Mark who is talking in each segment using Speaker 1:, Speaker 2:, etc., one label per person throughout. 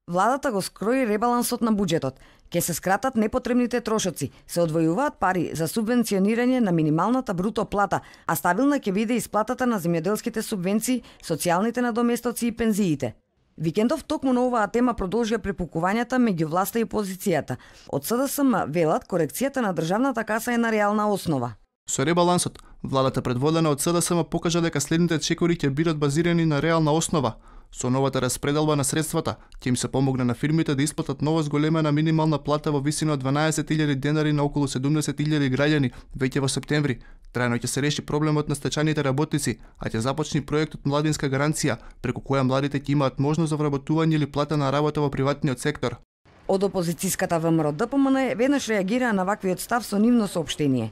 Speaker 1: Владата го скрои ребалансот на буџетот. Ке се скратат непотребните трошоци, се одвојуваат пари за субвенционирање на минималната бруто плата, а стабилна ќе биде исплатата на земјоделските субвенции, социјалните надоместоци и пензиите. Викендов токму на оваа тема продолжија препукувањата меѓу власта и опозицијата. Од СДСМ велат корекцијата на државната каса е на реална основа.
Speaker 2: Со ребалансот, владата предводена од СДСМ покажа дека следните чекори ќе бидат базирани на реална основа. Со новата распределба на средствата, ќе им се помогне на фирмите да исплатат нова зголемена минимална плата во висина од 12.000 денари на околу 70.000 граѓани веќе во септември. Трајно ќе се реши проблемот на стечајните работници, а ќе започне проектот Младинска гаранција, преку која младите ќе имаат можност за вработување или платена работа во приватниот сектор.
Speaker 1: Од опозицијската ВМРО ДПМН веднаш реагира на ваквиот став со нивно соопштение.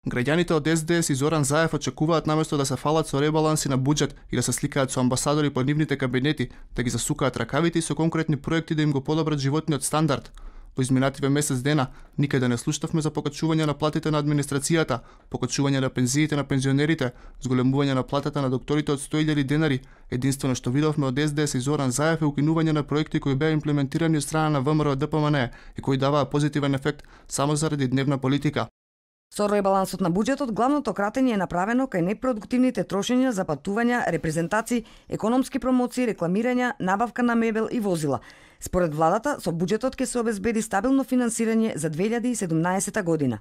Speaker 2: Граѓаните од СДС и Зоран Заев очекуваат наместо да се фалат со ребаланси на буџет и да се сликаат со амбасадори по нивните кабинети, да ги засукаат ракавите и со конкретни проекти да им го подобрат животниот стандард. Во изминативе месец дена никаде не слушнавме за покачување на платите на администрацијата, покачување на пензиите на пензионерите, зголемување на платата на докторите од 100.000 денари. Единствено што видовме од СДС и Зоран Заев е укинување на проекти кои беа имплементирани од страна на ВМРО ДПМН и кои даваа позитивен ефект само заради дневна политика.
Speaker 1: Со ребалансот на буџетот главното кратење е направено кај непродуктивните трошења за патувања, репрезентации, економски промоции, рекламирања, набавка на мебел и возила. Според владата, со буџетот ќе се обезбеди стабилно финансирање за 2017 година.